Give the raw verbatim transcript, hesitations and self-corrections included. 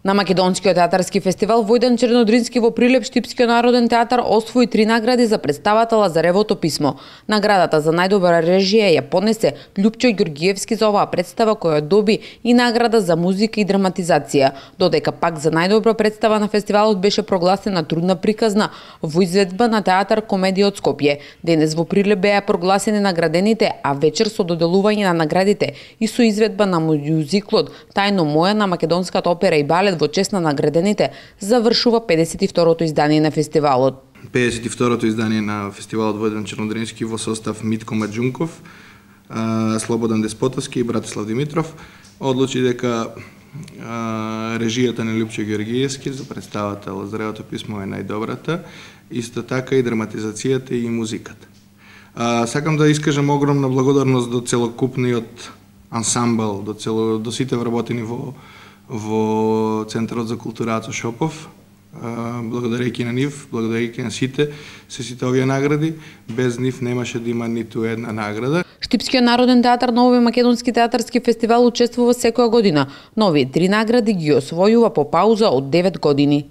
На Македонскиот театарски фестивал Војдан Чернодрински во Прилеп Штипскиот народен театар освои три награди за представата Лазаревото писмо. Наградата за најдобра режија ја понесе Љупчо Ѓорѓиевски за оваа представа, која доби и награда за музика и драматизација, додека пак за најдобра представа на фестивалот беше прогласена трудна приказна во изведба на театар Комедија од Скопје. Денес во Прилеп беа прогласени наградените, а вечер со доделување на наградите и со изведба на мюзиклот Тајно моја на Македонската опера и балет во чест на наградените завршува педесет и второто издание на фестивалот. педесет и второто издание на фестивалот Војдан Чернодрински во состав Митко Маџунков, Слободан Деспотовски и Братислав Димитров одлучи дека режијата на Љупчо Ѓорѓиевски за представата Лазаревото писмо е најдобрата, исто така и драматизацијата и музиката. Сакам да искажам огромна благодарност до целокупниот ансамбл, до цело до сите вработени во во Центарот за култура Ацо Шопов. Благодарејќи на нив, благодарејќи на сите, се сите овие награди, без нив немаше да има ниту една награда. Штипскиот народен театар на овој македонски театарски фестивал учествува секоја година. Нови три награди ги освојува по пауза од девет години.